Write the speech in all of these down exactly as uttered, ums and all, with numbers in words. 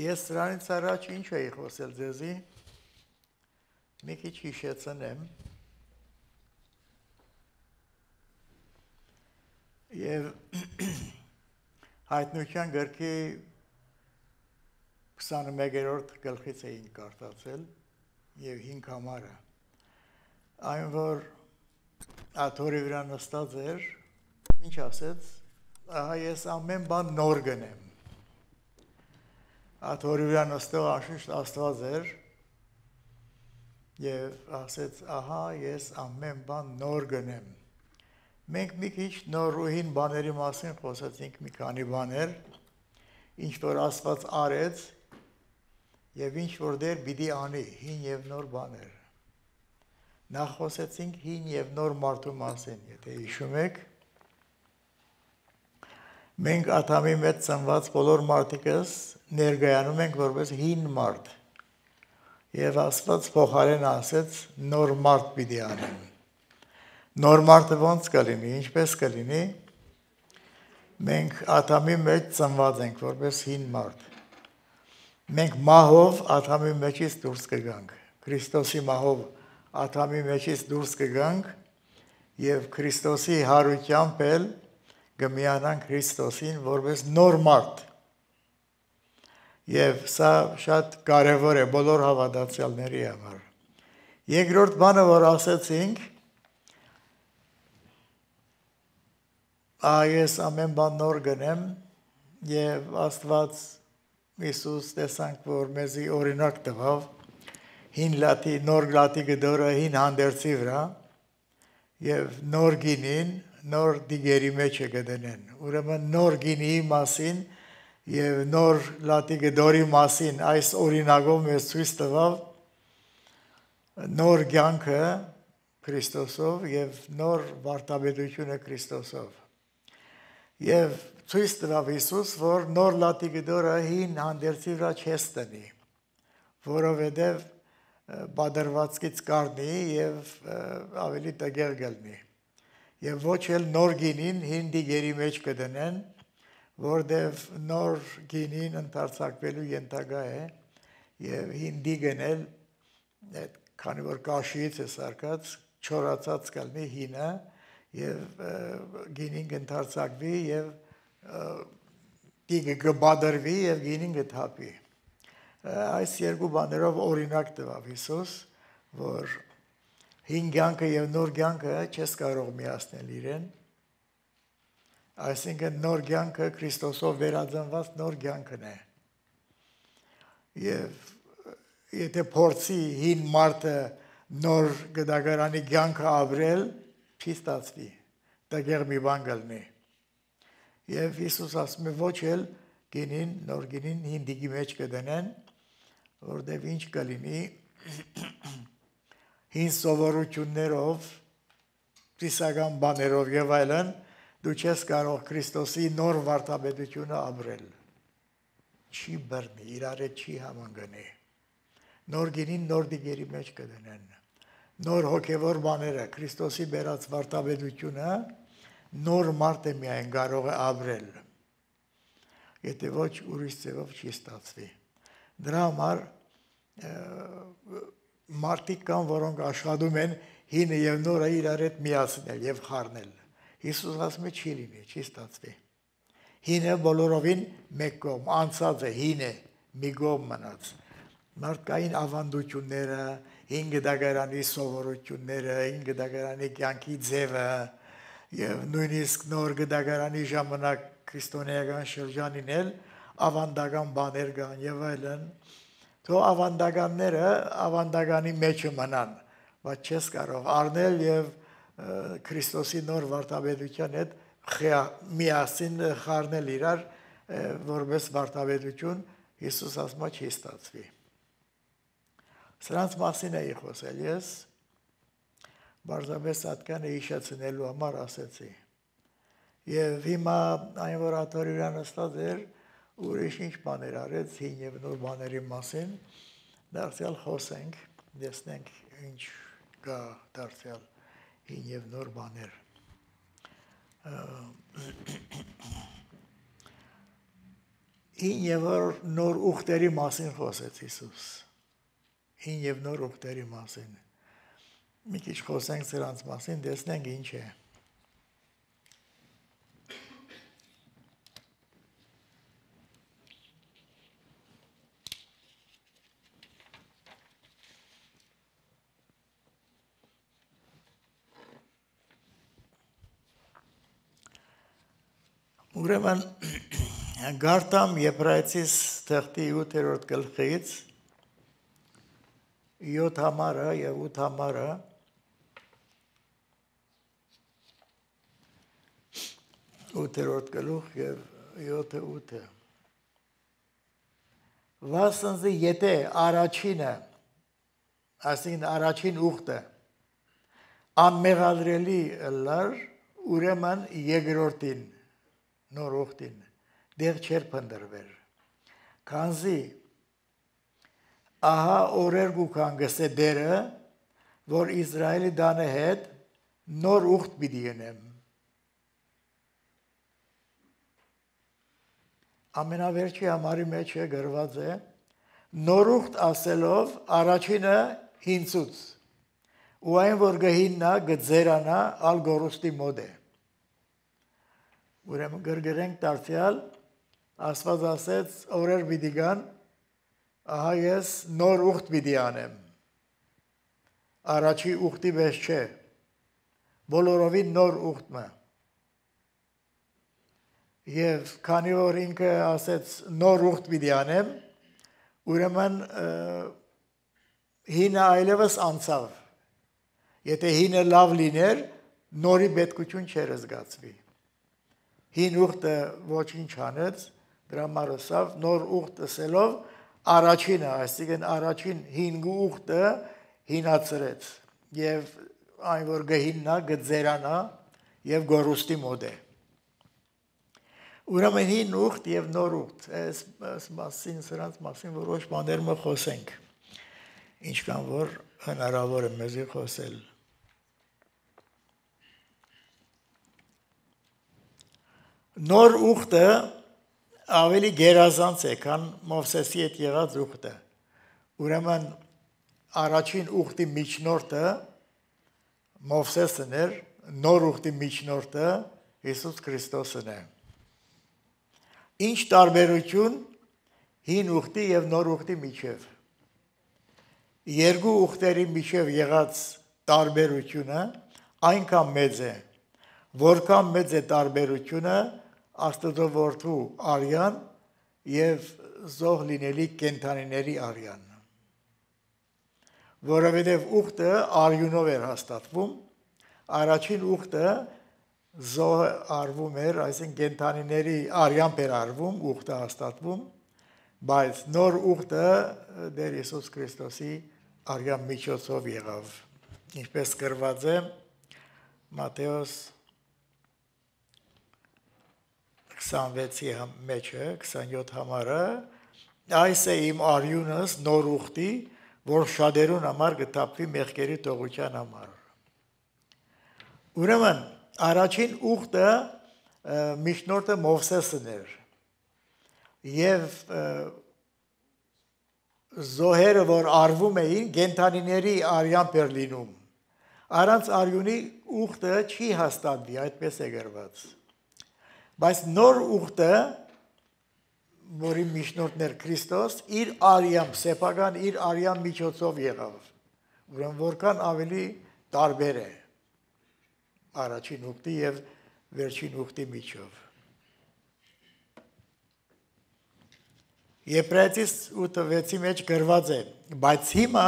Ես սրանից առաջ ինչ էի խոսել ձեզի, մի քիչ հիշեցնեմ, և հայտնության գրքի քսանմեկերորդ գլխից էին կարդացել և հինգ համարը, այն որ աթոռի վրա նստած էր, ինչ ասեց, ահա ես ամեն բան նոր գնեմ, աթոռի վրա նստող անշուշտ Աստված էր և ասեց, ահա ես ամեն բան նոր գնեմ, մենք մի քիչ նոր ու հին բաների մասին խոսեցինք մի քանի բաներ, ինչ որ Աստված արեց և ինչ որ դեր պիտի անի, հին և նոր բաներ, նախ խոսեցինք հին և նոր մարդու մասին, եթե հիշում եք, մենք Ադամի մեջ ծնված բոլոր մարդիկս ներկայանում ենք որպես հին մարդ և Աստված փոխարեն ասեց նոր մարդ պիտի անեմ, նոր մարդը ոնց կլինի, ինչպես կլինի, մենք Ադամի մեջ ծնված ենք որպես հին մարդ, մենք մահով Ադամի մեջից դուրս կգանք, Քրիստոսի մահով Ադամի մեջից դուրս կգանք և Քրիստոսի հարությամբ էլ կմիանանք Քրիստոսին որպես նոր մարդ և սա շատ կարևոր է բոլոր հավատացյալների համար։ Երկրորդ բանը, որ ասեցինք, ահա ես ամեն բան նոր գնեմ և Աստված Հիսուս տեսանք, որ մեզի օրինակ տվավ հին լատի, նոր լատի գդորը հին հանդերձի վրա և նոր գինին նոր դիգերի մեջ է գտնեն, ուրեմն նոր գինիի մասին և նոր լատի գդորի մասին այս օրինակով մեզ ցույց տվավ նոր կյանքը Քրիստոսով և նոր վարդապետությունը Քրիստոսով և ցույց տվավ Հիսուս, որ նոր լատի գդորը հին հանդերձի վրա չես տնի, որովհետև բادرվածքից կառնի և ավելի տգեղ կլինի և ոչ էլ նոր գինին հին դիգերի մեջ կդնեն, որտև նոր գինին ընդարձակվելու ենթակա է և հին դիգն էլ, քանի որ կաշիից է սարքած, չորացած կլինի հինը և գինին կընդարձակվի և դիգը կբادرվի և գինին կթափի։ Այս երկու բաներով օրինակ տվավ Հիսուս, որ հին կյանքը և նոր կյանքը չես կարող միացնել իրեն, այսինքն նոր կյանքը Քրիստոսով վերածնված նոր կյանքն է և եթե փորձի հին մարդը նոր գդագարանի կյանքը ապրել, չի ստացվի, տգեղ մի բան կլինի և Հիսուս ասում է ոչ էլ գինին, նոր գինին հին դիգի մեջ կդնեն, որտև ինչ կլինի հին սովորություններով, ծիսական բաներով և այլն, դու չես կարող Քրիստոսի նոր վարդապետությունը ապրել, չի բռնի, իրար հետ չի համընկնի, նոր գինին նոր դիգերի մեջ կդնեն, նոր հոգևոր բաները, Քրիստոսի բերած վարդապետությունը, նոր մարդ է միայն կարող է ապրել, եթե ոչ ուրիշ ձևով չի ստացվի, դրա համար մարդիկ կան, որոնք աշխատում են հինը և նորը իրար հետ միացնել և խառնել, Հիսուս ասում է չի լինի, չի ստացվի, հինը բոլորովին մեկ կողմ, անցած է, հին է, մի կողմ մնաց, մարդկային ավանդությունները, հին գդագարանի սովորությունները, հին գդագարանի կյանքի ձևը և նույնիսկ նոր գդագարանի ժամանակ քրիստոնեական շրջանին էլ ավանդական բաներ կան և այլն, թող ավանդականները ավանդականի մեջը մնան, բայց չես կարող առնել և Քրիստոսի նոր վարդապետության հետ միասին խառնել իրար որպես վարդապետություն, Հիսուս ասում է չի ստացվի։ Սրանց մասին էի խոսել ես, պարզապես ատկանը հիշեցնելու համար ասեցի։ Եվ հիմա այն որ աթոռի վրա նստած էր, ուրիշ ինչ բաներ արեց, հին և նոր բաների մասին, դարձյալ խոսենք, տեսնենք ինչ կա դարձյալ հին և նոր բաներ։ Հին եւ նոր ուխտերի մասին խոսեց Հիսուս։ Հին եւ նոր ուխտերի մասին։ Մի քիչ խոսենք սրանց մասին, տեսնենք ինչ է։ Ուրեմն Գարտամ Եբրայեցիս թղթի ութերորդ գլխից յոթ համարը եւ ութ համարը ութերորդ գլուխ եւ յոթը ութը Վասնզի եթե առաջինը այսինքն առաջին ուխտը անմեղադրելի լար ուրեմն երկրորդին նոր ուխտին դեղ չեր փնտրվեր քանզի ահա օրեր գուքան գսե դերը որ Իսրայելի դանը հետ նոր ուխտ պիտի ենեմ ամենավերջի համարի մեջ է գրված է նոր ուխտ ասելով առաջինը հինցուց ու այն որ գհիննա գձերանա ալ գորուստի մոդ է ուրեմն գրգրենք դարձյալ Աստված ասեց օրեր պիտի գան ահա ես նոր ուխտ պիտի անեմ առաջի ուխտի պես չէ բոլորովին նոր ուխտը եւ քանի որ ինքը ասեց նոր ուխտ պիտի անեմ ուրեմն հինը այլևս անցավ եթե հինը լավ լիներ նորի պետքություն չէր զգացվի հին ուխտը ոչինչ անեց դրա մարսավ նոր ուխտ ասելով առաջինը այսինքն առաջին հին ուխտը հինացրեց եւ այն որ գհիննա գձերանա եւ գորուստի մոդ է ուրեմն հին ուխտ եւ նոր ուխտ այս մասին սրանց մասին որոշ բաներ մը խոսենք ինչքան որ հնարավոր է մեզի խոսել նոր ուխտը ավելի գերազանց է, քան Մովսեսի հետ եղած ուխտը։ Ուրեմն առաջին ուխտի միջնորդը Մովսեսն էր, նոր ուխտի միջնորդը Հիսուս Քրիստոսն է։ Ինչ տարբերություն հին ուխտի եւ նոր ուխտի միջև։ Երկու ուխտերի միջև եղած տարբերությունը այնքան մեծ է, որքան մեծ է տարբերությունը Աստծո որդու արյան եւ զոհ լինելի կենթանիների արյան որովհետեւ ուխտը արյունով էր հաստատվում առաջին ուխտը զոհ արվում էր այսինքն կենթանիների արյամբ էր արվում ուխտը հաստատվում բայց նոր ուխտը դեր Հիսուս Քրիստոսի արյան միջոցով եղավ ինչպես գրված է Մատթեոս քսանվեցի մեջը քսանյոթ համարը այս է իմ արյունս նոր ուխտի որ շատերուն համար գտապվի մեղքերի թողության համար ուրեմն առաջին ուխտը միջնորդը Մովսեսն էր եւ զոհերը որ արվում էին կենթանիների արյամբ էր լինում առանց արյունի ուխտը չի հաստատվի այդպես է գրված Բայց նոր ուխտը, որի միջնորդն էր Քրիստոս, իր արյամբ, սեփական իր արյան միջոցով եղավ։ Ուրեմն որքան ավելի տարբեր է առաջին ուխտի եւ վերջին ուխտի միջով։ Եբրայեցիս ութվեցի մեջ գրված է, բայց հիմա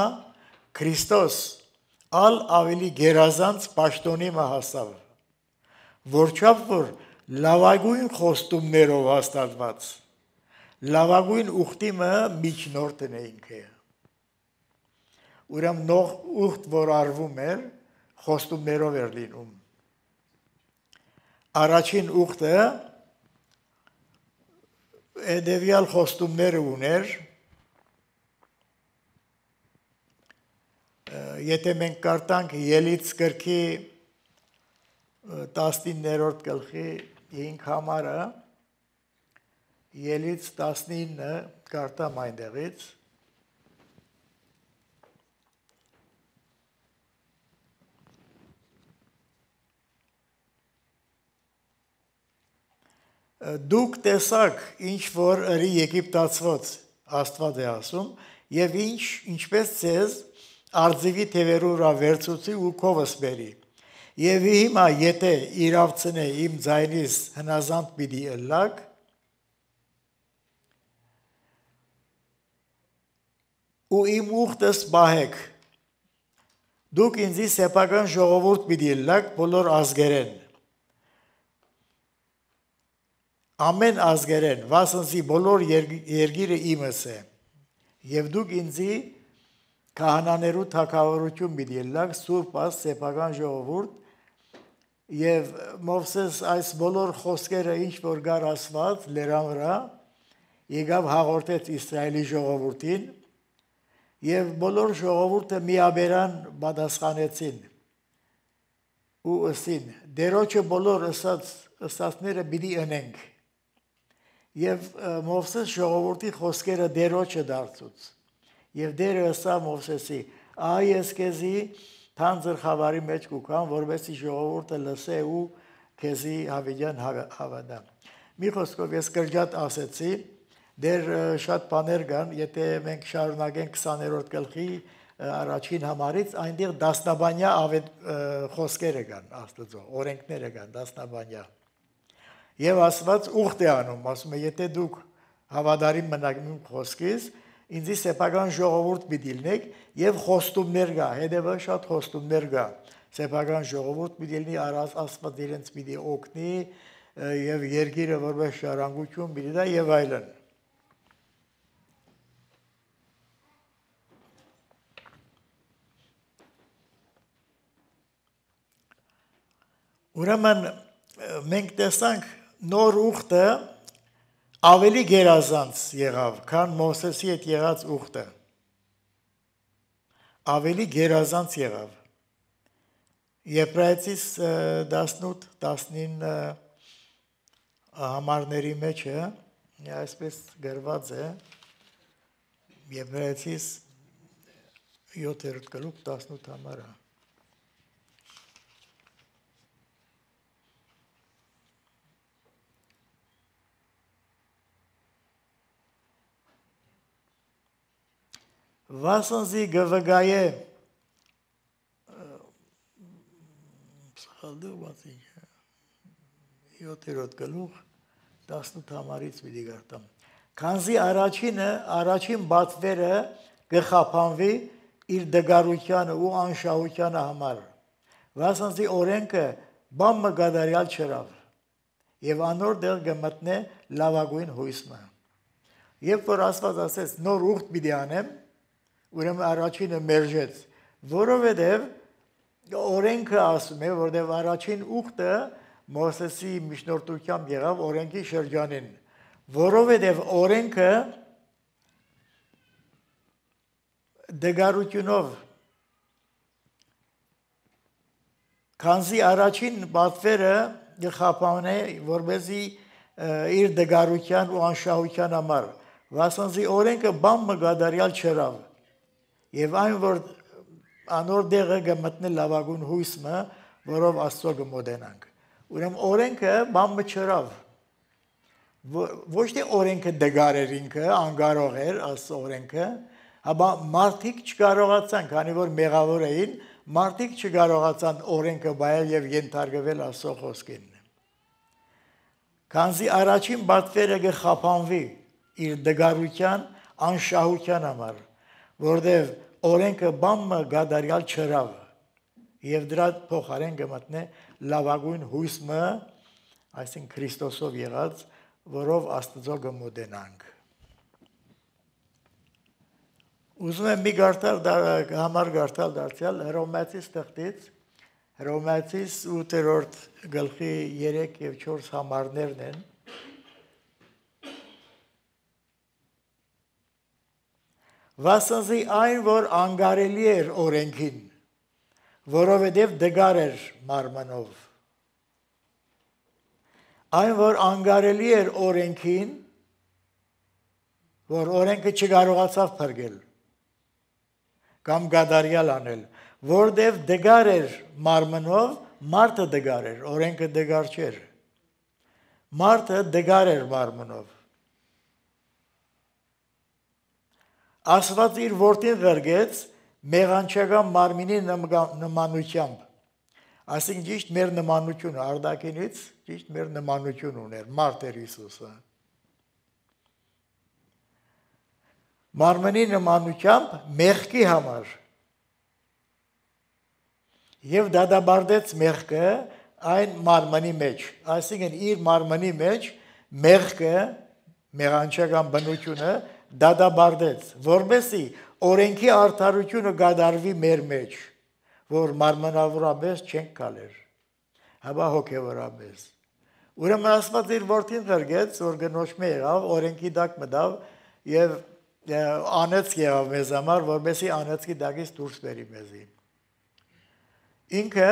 Քրիստոս ալ ավելի գերազանց պաշտոնի մը հասավ, որչափ որ լավագույն խոստումներով հաստատված լավագույն ուխտի մը միջնորդն է ինքը ուրեմն նոր ուխտ որ արվում էր խոստումներով էր լինում առաջին ուխտը հետևյալ խոստումները ուներ եթե մենք կարդանք Ելից գրքի տասնիններորդ գլխի հինգ համարը ելից տասնինը կարտամ այնտեղից դուք տեսակ ինչ որ ըրի Եգիպտացված Աստված է ասում եւ ինչ ինչպես ցեզ արձիվի թևերու վրա վերցուցի ու քովս բերի եւ հիմա եթե իրավցնե իմ ձայնից հնազանդ պիտի ըլլակ ու իմ ուխտս բահեք դուք ինձի սեփական ժողովուրդ պիտի ըլլակ բոլոր ազգերեն ամեն ազգերեն վասնզի բոլոր երգիրը իմս է եւ դուք ինձի քահանաներու թագավորություն պիտի ըլլակ սուրբ աս սեփական ժողովուրդ եւ Մովսես այս բոլոր խոսքերը ինչ որ գար ասված լերան վրա եկավ հաղորդեց Իսրայելի ժողովրդին եւ բոլոր ժողովուրդը միաբերան պատասխանեցին ու ըսին դերոջը բոլոր ըսած ըսածները պիտի ընենք եւ Մովսես ժողովրդի խոսքերը դերոջը դարձուց եւ դերը ըսա Մովսեսի այ ես քեզի թանձր խավարի մեջ կուքան որովհետեւ ժողովուրդը լսե ու քեզի հավիդյան հավատա մի խոսքով ես կրճատ ասեցի դեր շատ բաներ կան եթե մենք շարունակենք քսաներորդ գլխի առաջին համարից այնտեղ դասնաբանյա խոսքերը կան Աստծո օրենքները կան դասնաբանյա եւ Աստված ուխտ է անում ասում է եթե դուք հավատարիմ մնաք իմ խոսքից ինձի սեփական ժողովուրդ պիտի լինեք եւ խոստումներ կա հետեւը շատ խոստումներ կա սեփական ժողովուրդ պիտի լինի առած Աստված իրենց պիտի օգնի եւ երկիրը որպես շարանգություն պիտի դա եւ այլն ուրեմն մենք տեսանք նոր ուխտը ավելի գերազանց եղավ, քան Մովսեսի հետ եղած ուխտը։ Ավելի գերազանց եղավ։ Եբրայեցիս տասնութ տասնինը համարների մեջ է, այսպես գրված է, Եբրայեցիս յոթերորդ գլուխ տասնութ համարը։ Վասնզի գվգայե յոթերորդ գլուխ տասնութ համարից պիտի գարտամ քանզի առաջինը առաջին բացվերը գխափանվի իր դգարությանը ու անշահությանը համար վասնզի օրենքը բան մգադարյալ չրավ եւ անոր դեղ գմտնե լավագույն հույսը երբ որ Աստված ասեց նոր ուխտ պիտի անեմ ուրեմն առաջինը մերժեց որովհետեւ օրենքը ասում է որովհետեւ առաջին ուխտը Մովսեսի միջնորդությամբ եղավ օրենքի շրջանին որովհետեւ օրենքը դգարությունով քանզի առաջին բացվերը գխափանե որբեզի իր դգարության ու անշահության համար վասնզի օրենքը բան մգադարյալ չրավ եւ այն որ անոր դեղը գմտնի լավագույն հույսը որով Աստծո գմոդենանք ուրեմն օրենքը բան մչրավ ոչ թե օրենքը դգար էր ինքը անգարող էր Աստծո օրենքը հաբա մարդիկ չկարողացան քանի որ մեղավոր էին մարդիկ չկարողացան օրենքը բայել եւ ենթարկվել Աստծո խոսքին քանզի առաջին բացվերը գխափանվի իր դգարության անշահության համար որտեւ օրենքը բամը գադարյալ չրավ եւ դրա փոխարեն գմտնե լավագույն հույսը այսինքն Քրիստոսով եղած որով Աստծո գմոդենանք ուզում եմ մի գարտալ համար գարտալ դարձյալ Հռոմեացիս թղթից Հռոմեացիս ութերորդ գլխի երեք եւ չորս համարներն են Վասնզի այն, որ անգարելի էր օրենքին, որովհետև դգար էր մարմնով։ Այն, որ անգարելի էր օրենքին, որ օրենքը չկարողացավ փրկել կամ գադարյալ անել, որտեվ դգար էր մարմնով, մարդը դգար էր, օրենքը դգար չէր։ Մարդը դգար էր մարմնով։ Աստված իր որդին ղրգեց մեղանչական մարմինի նմանությամբ։ Այսինքն ճիշտ մեր նմանությունը արտաքինից ճիշտ մեր նմանություն ուներ մարդ էր Հիսուսը։ Մարմնի նմանությամբ մեղքի համար եւ դադարեցեց մեղքը այն մարմնի մեջ, այսինքն իր մարմնի մեջ մեղքը մեղանչական բնությունը դադարեցեց, որովհետեւ օրենքի արդարությունը գադարվի մեր մեջ, որ մարմնավորապես չենք կալեր, հաբա հոգևորապես։ Ուրեմն Աստված իր որդին ղրգեց, որ գնոջմե եղավ, օրենքի տակ մտավ եւ անեց եղավ մեզ համար, որովհետեւ անեցքի տակից դուրս բերի մեզի։ Ինքը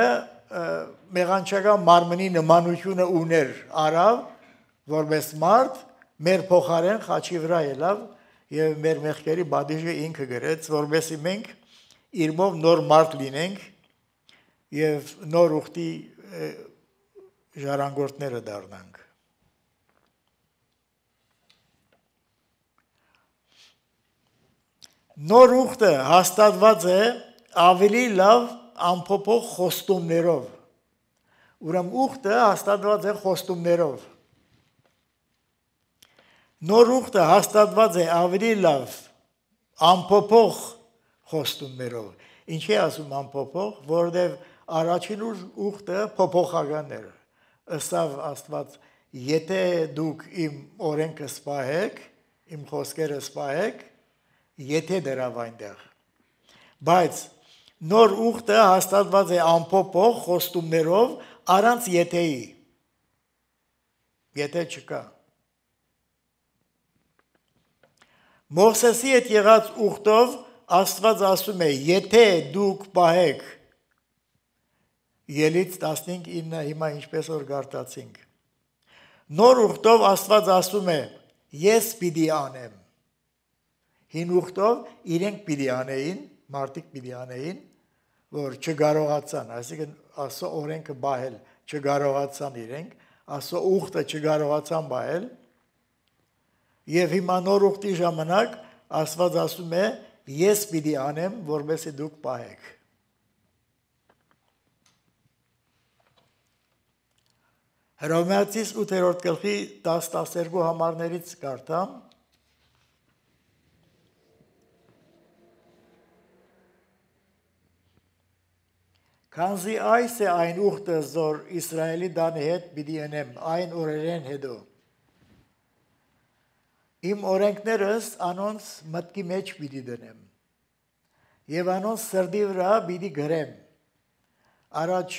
մեղանչական մարմնի նմանությունը ուներ, արավ, որպես մարդ, մեր փոխարեն խաչի վրա ելավ եւ մեր մեղքերի բադիժը ինքը գրեց, որովհետեւ մենք իրմով նոր մարդ լինենք եւ նոր ուխտի ժառանգորդները դառնանք։ Նոր ուխտը հաստատված է ավելի լավ ամփոփող խոստումներով։ Ուրեմն ուխտը հաստատված է խոստումներով։ Նոր ուխտը հաստատված է ավելի լավ ամփոփող խոստումներով։ Ինչի ասում ամփոփող, որովհետև առաջին ուխտը փոփոխական էր։ Ըստավ Աստված, եթե դուք իմ օրենքը սպահեք, իմ խոսքերը սպահեք, եթե դրավ այնտեղ։ Բայց նոր ուխտը հաստատված է ամփոփող խոստումներով առանց եթեի։ Եթե չկա։ Մովսեսի հետ եղած ուխտով Աստված ասում է, եթե դուք պահեք, Ելից տասնհինգ ինը, հիմա ինչպես որ գարտացինք։ Նոր ուխտով Աստված ասում է, ես պիտի անեմ։ Հին ուխտով իրենք պիտի անեին, մարդիկ պիտի անեին, որ չկարողացան, այսինքն Աստծո օրենքը բահել, չկարողացան իրենք, Աստծո ուխտը չկարողացան բահել, եւ հիմա նոր ուխտի ժամանակ Աստված ասում է, ես պիտի անեմ, որովհետեւ դուք պահեք։ Հռոմեացիս ութերորդ գլխի տասը տասներկու համարներից կարդամ։ Քանզի այս է այն ուխտը, որ Իսրայելի դանի հետ պիտի անեմ, այն օրերեն հետո։ Իմ օրենքներս անոնց մտքի մեջ պիտի դնեմ, եւ անոնց սրտի վրա պիտի գրեմ։ Առաջ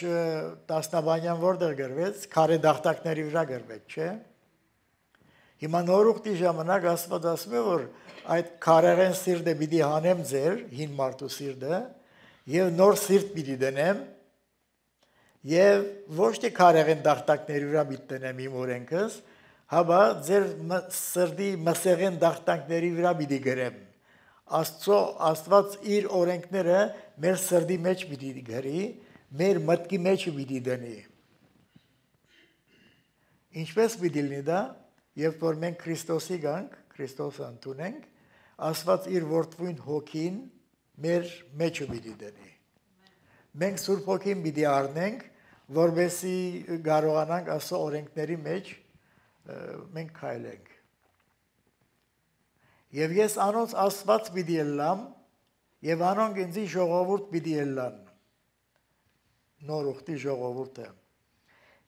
տասնաբանյան որտեղ գրվեց, քարե դախտակների վրա գրվեց, չէ՞։ Հիմա նոր ուխտի ժամանակ Աստված ասում է, որ այդ քարերեն սիրտը պիտի հանեմ ձեր, հին մարդու սիրտը, եւ նոր սիրտ պիտի դնեմ, եւ ոչ թե քարերեն դախտակների վրա պիտի դնեմ իմ օրենքս, հաբա ձեր սրտի մսեղեն դախտակների վրա պիտի գրեմ։ Աստծո Աստված իր օրենքները մեր սրտի մեջ պիտի գրի, մեր մտքի մեջ պիտի դնի։ Ինչպես պիտի լինի դա, երբ որ մենք Քրիստոսի գանք, Քրիստոսը ընդունենք, Աստված իր որդվույն հոգին մեր մեջը պիտի դնի։ Մենք Սուրբ Հոգին պիտի առնենք, որովհետեւ կարողանանք Աստծո օրենքների մեջ մենք քայլենք։ Եվ ես անոնց Աստված պիտի ելամ, եւ անոնք ինձ ժողովուրդ պիտի ելան։ Նոր ուխտի ժողովուրդը։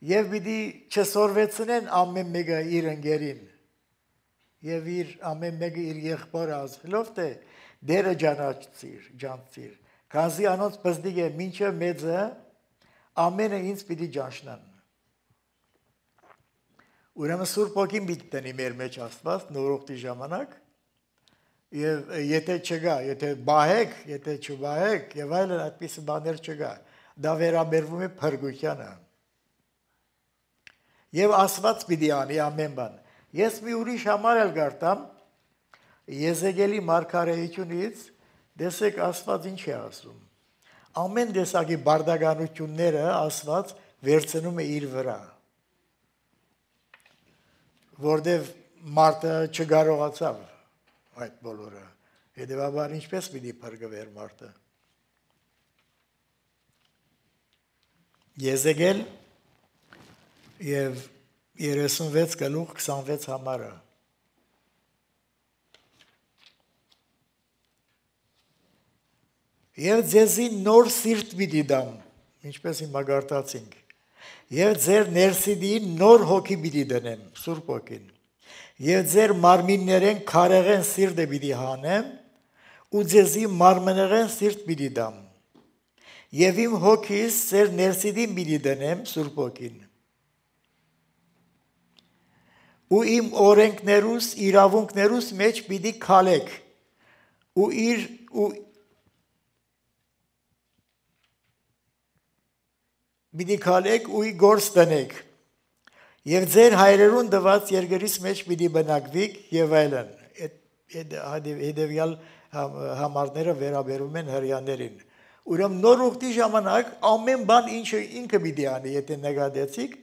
Եվ պիտի չսորվեցնեն ամեն մեկը իր ընկերին, եւ իր ամեն մեկը իր եղբորը ասելով, թե դերը ջանացիր, ջանցիր, քանզի անոնց բզդիկ է մինչև մեծը, ամենը ինձ պիտի ջանշնան։ Ուրեմն Սուրբ Հոգին պիտի տնի մեր մեջ Աստված նոր ուխտի ժամանակ, եւ եթե չգա, եթե բահեք, եթե չբահեք, եւ այլն այդպես բաներ չգա, դա վերաբերվում է փրկությանը։ Եվ Աստված պիտի անի ամեն բան։ Ես մի ուրիշ համար էլ գարտամ, Եզեկելի մարգարեությունից դեսեք Աստված ինչ է ասում։ Ամեն տեսակի բարդականությունները Աստված վերցնում է իր վրա, որտև մարդը չկարողացավ այդ բոլորը։ Հետևաբար ինչպես պիտի փրկվեր մարդը։ Եզեկել եւ երեսունվեց գլուխ քսանվեց համարը։ Եվ ձեզի նոր սիրտ պիտի դամ, ինչպես հիմա գարտացինք, եւ ձեր ներսիդին նոր հոգի պիտի դնեմ, Սուրբ Հոգին, եւ ձեր մարմիններեն քարեղեն սիրտը պիտի հանեմ, ու ձեզի մարմնեղեն սիրտ պիտի դամ, եւ իմ հոգիս ձեր ներսիդին պիտի դնեմ, Սուրբ Հոգին, ու իմ օրենքներուս, իրավունքներուս մեջ պիտի քալեք, ու իր ու Պիտի քալեք ու գործ տնեք, եւ ձեր հայրերուն դված երկրից մեջ պիտի բնակվիք եւ այլն։ Հետևյալ համարները վերաբերում են հրյաներին։ Ուրեմն նոր ուխտի ժամանակ ամեն բան ինչը ինքը պիտի անի, եթե նկատեցիք,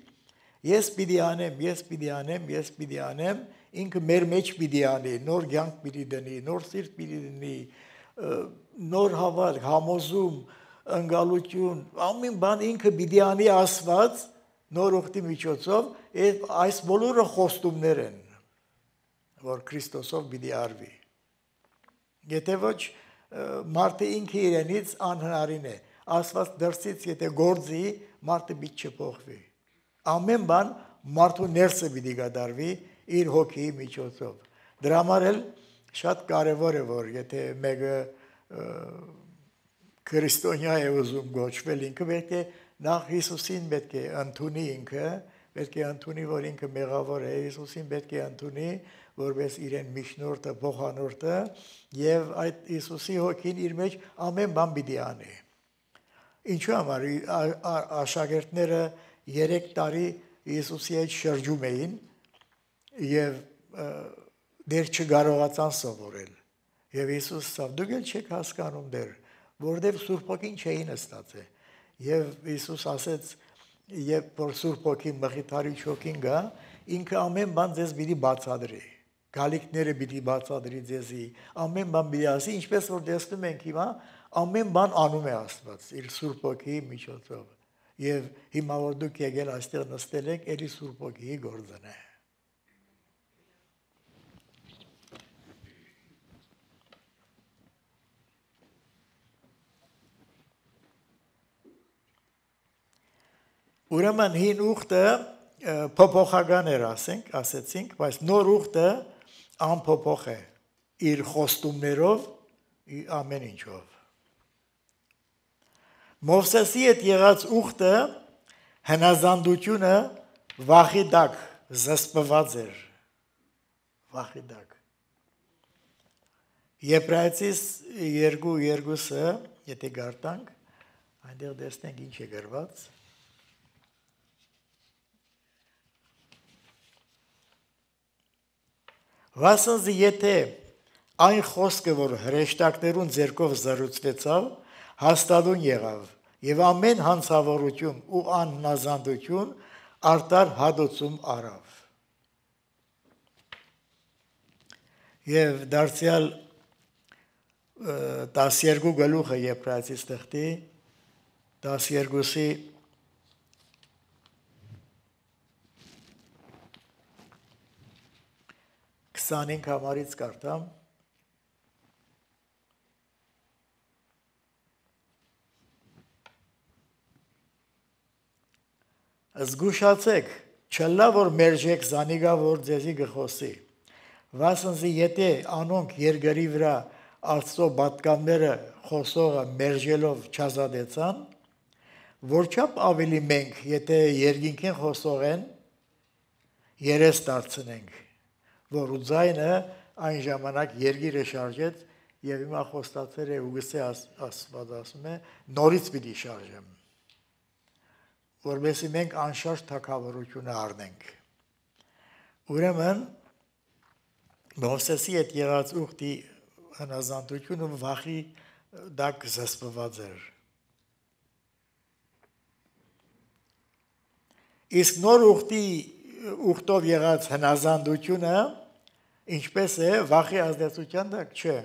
ես պիտի անեմ, ես պիտի անեմ, ես պիտի անեմ, ինքը մեր մեջ պիտի անի, նոր կյանք պիտի դնի, նոր սիրտ պիտի դնի, նոր հավատք, համոզում, ընկալություն, ամեն բան ինքը պիտի անի Աստված նոր ուխտի միջոցով, այս բոլորը խոստումներ են, որ Քրիստոսով պիտի արվի։ Եթե ոչ մարդը ինքը իրենից անհնարին է, Աստված դրսից եթե գործի, մարդը պիտի չփոխվի։ Ամեն բան մարդու ներսը պիտի կատարվի իր հոգիի միջոցով։ Դրա համար էլ շատ կարևոր է, որ եթե մեկը քրիստոնյա է ուզում գոչվել, ինքը պետք է նախ Հիսուսին պետք է ընդունի ինքը, պետք է ընդունի, որ ինքը մեղավոր է, Հիսուսին պետք է ընդունի, որպես իրեն միջնորդը, փոխանորդը, եւ այդ Հիսուսի հոգին իր մեջ ամեն բան պիտի անի։ Ինչու համար աշակերտները երեք տարի Հիսուսի հետ շրջում էին եւ դեռ չկարողացան սովորել։ Եվ Հիսուս ասավ. դուք էլ չեք հասկանում դեռ, որտեղ Սուրբ Հոգին չէին ստացել։ Եվ Հիսուս ասեց, երբ որ Սուրբ Հոգին մխիթարիչ հոգին գա, ինքը ամեն բան ձեզ պիտի բացատրի, գալիքները պիտի բացատրի ձեզի, ամեն բան պիտի ասի, ինչպես որ տեսնում ենք հիմա, ամեն բան անում է Աստված իր Սուրբ Հոգիի միջոցով։ Եվ հիմա որ դուք եկել այստեղ նստել եք, ելի Սուրբ Հոգիի գործն է։ Ուրեմն հին ուխտը փոփոխական էր, ասենք, ասեցինք, բայց նոր ուխտը անփոփոխ է իր խոստումներով, ամեն ինչով։ Մովսեսի հետ եղած ուխտը հնազանդությունը վախի տակ զսպված էր, վախի տակ։ Եբրայեցիս երկու երկուսը, եթե գարտանք, այնտեղ տեսնենք ինչ է գրված։ Վասնզի եթե այն խոսքը, որ հրեշտակներուն ձեռքով զրուցվեցավ, հաստատուն եղավ, եւ ամեն հանցավորություն ու անհնազանդություն արտար հադոցում արավ։ Եվ դարձյալ տասներկու գլուխը Եբրայեցիս թղթի տասներկուսի քսանհինգ համարից կարդամ։ Զգուշացեք, չլա որ մերժեք զանիգա, որ ձեզի գխոսի, վասնզի եթե անոնք երկրի վրա Աստծո պատկանները խոսողը մերժելով չազատեցան, որչափ ավելի մենք, եթե երկինքին խոսող են, երես դարձնենք, որ ու ձայնը այն ժամանակ երգիրը շարժեց եւ հիմա խոստացել է ու գսե Աստված ասում է նորից պիտի շարժեմ, որովհետեւ մենք անշարժ թագավորությունը առնենք։ Ուրեմն Մովսեսի հետ եղած ուխտի հնազանդությունը վախի դակ զսպված էր։ Իսկ նոր ուխտի ուխտով եղած հնազանդությունը ինչպես է վախի ազդեցության դակ չէ։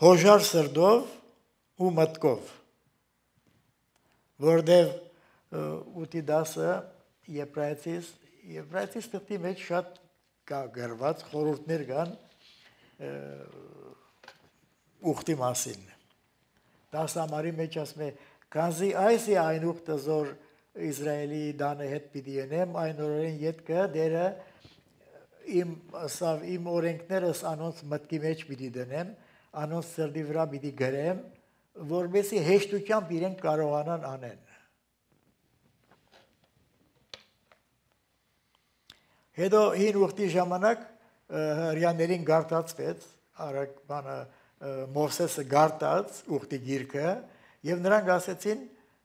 Հոժար սրտով ու մտքով, որտև ութի դասը Եբրայեցիս Եբրայեցիս թղթի մեջ շատ կա գրված խորհուրդներ կան ուխտի մասին։ Դասը համարի մեջ ասում է, քանզի այս է այն ուխտը, որ Իսրայելի դանը հետ պիտի ենեմ, այն օրերին ետքը դերը իմ ասավ իմ օրենքներս անոնց մտքի մեջ պիտի դնեմ, անոնց սրտի վրա պիտի գրեմ, որովհետեւ հեշտությամբ իրենք կարողանան անեն։ Հետո հին ուխտի ժամանակ հրյաներին գարտացվեց, արագ բանը Մովսեսը գարտած ուխտի գիրքը, եւ նրանք ասեցին,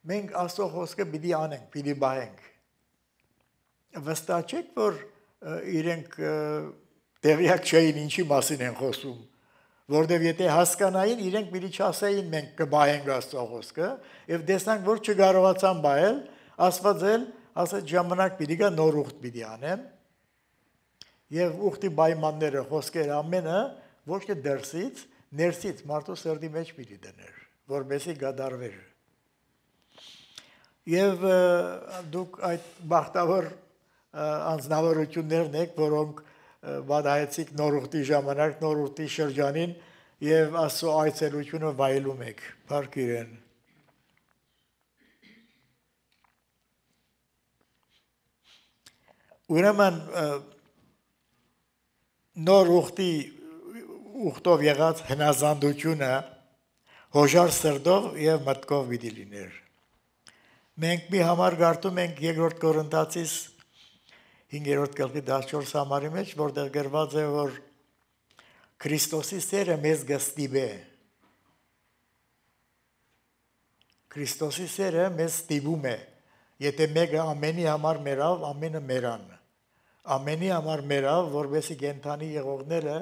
մենք Աստծո խոսքը պիտի անենք, պիտի բայենք։ Վստահ չեք, որ իրենք տեղյակ չէին ինչի մասին են խոսում, որտեւ եթե հասկանային, իրենք պիտի չասեին մենք կբայենք Աստծո խոսքը, եւ տեսանք, որ չկարողացան բայել, Աստված էլ ասաց ժամանակ պիտի գա նոր ուխտ պիտի անեմ, եւ ուխտի պայմանները, խոսքերը ամենը ոչ թե դրսից, ներսից մարդու սրտի մեջ պիտի դներ, որպեսզի գադարվեր։ Եվ դուք այդ բախտավոր անձնավորություններն եք, որոնք վադայեցիք նոր ուխտի ժամանակ, նոր ուխտի շրջանին եւ Աստծո այցելությունը վայելում եք, փառք իրեն։ Ուրեմն նոր ուխտի ուխտով եղած հնազանդությունը հոժար սրտով եւ մտքով պիտի լիներ։ Մենք մի համար գարտում ենք երկրորդ Կորինթացիս հինգերորդ գլխի տասնչորս համարի մեջ, որտեղ գրված է, որ Քրիստոսի սերը մեզ գստիբե։ Քրիստոսի սերը մեզ ստիպում է, եթե մեկը ամենի համար մերավ, ամենը մերան։ Ամենի համար մերավ, որովհետեւ գենթանի եղողները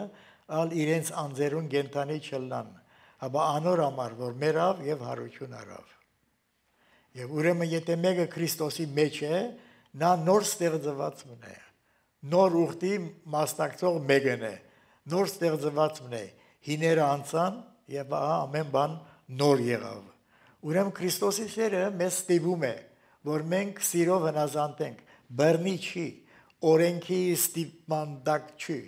ալ իրենց անձերուն գենթանի չլնան, հաբա անոր համար, որ մերավ եւ հարություն արավ։ Եվ ուրեմն եթե մեկը Քրիստոսի մեջ է, նա նոր ստեղծվածն է, նոր ուխտի մասնակցող մեկն է, նոր ստեղծվածն է, հիները անցան եւ ամեն բան նոր եղավ։ Ուրեմն Քրիստոսի սերը մեզ ստիպում է, որ մենք սիրով հնազանդենք, բռնի չի, օրենքի ստիպման տակ չի։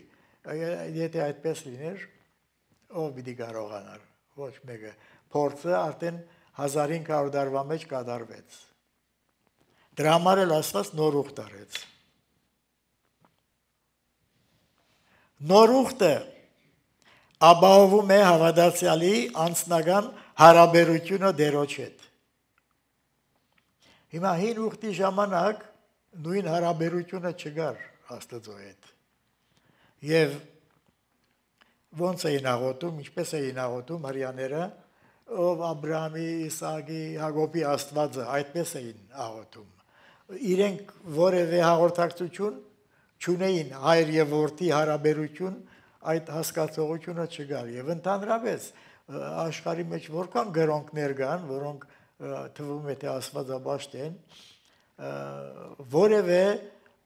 Եթե այդպես լիներ, ով պիտի կարողանար, ոչ մեկը։ Փորձը արդեն հազար հինգ հարյուր տարվա մեջ կատարվեց։ Դրա համար էլ Աստված նոր ուխտ արեց։ Նոր ուխտը ապահովում է հավատացյալի անձնական հարաբերությունը Տերոջ հետ։ Հիմա հին ուխտի ժամանակ նույն հարաբերությունը չկար Աստծո հետ։ Եվ ոնց էին աղոթում, ինչպես էին աղոթում հրյաները, ով Աբրահամի, Իսահակի, Հակոբի Աստվածը, այդպես էին աղոթում։ Իրենք որևէ հաղորդակցություն չունեին, հայր եւ որդի հարաբերություն, այդ հասկացողությունը չկար։ Եվ ընդհանրապես աշխարհի մեջ որքան գրոնքներ կան, որոնք թվում է թե աստվածաբաշտ են, որևէ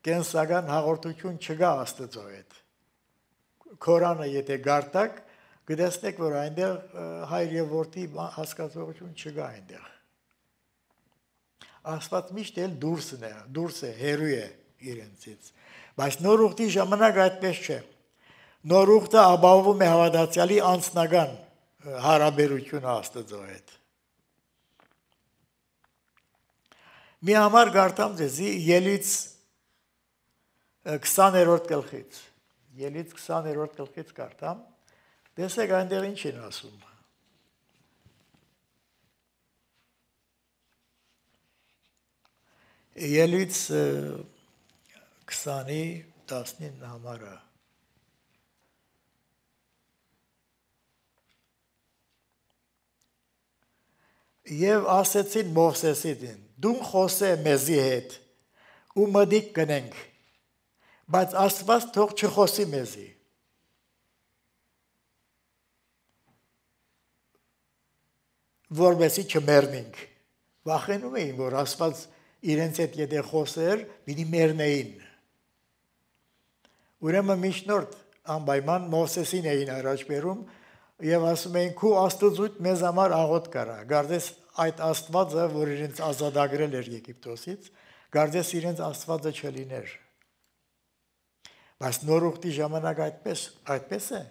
կենսական հաղորդություն չկա Աստծո հետ։ Կորանը եթե գարտակ, կտեսնեք, որ այնտեղ հայր եւ որդի հասկացողություն չկա այնտեղ։ Աստված միշտ էլ դուրսն է, դուրս է, հերու է իրենցից։ Բայց նոր ուխտի ժամանակ այդպես չէ։ Նոր ուխտը ապահովում է հավատացյալի անձնական հարաբերությունը Աստծո հետ։ Մի համար գարտամ ձեզի Ելից քսաներորդ գլխից։ Ելից քսաներորդ գլխից գարտամ։ Տեսեք այնտեղ ինչ են ասում։ Ելից քսանի տասնինը համարը։ Եվ ասեցին Մովսեսին, դու խոսե մեզի հետ ու մդիկ կնենք, Բայց Աստված թող չխոսի մեզի։ Որովհետեւ չմեռնենք։ Վախենում էին, որ Աստված իրենց հետ եթե խոսեր, պիտի մեռնեին։ Ուրեմն միջնորդ անպայման Մովսեսին էին առաջ բերում եւ ասում էին՝ «Քու Աստծուց մեզ համար աղոտ կարա»։ Գարդես այդ Աստվածը, որ իրենց ազատագրել էր Եգիպտոսից, գարդես իրենց Աստվածը չլիներ։ Բայց նոր ուխտի ժամանակ այդպես, այդպես է։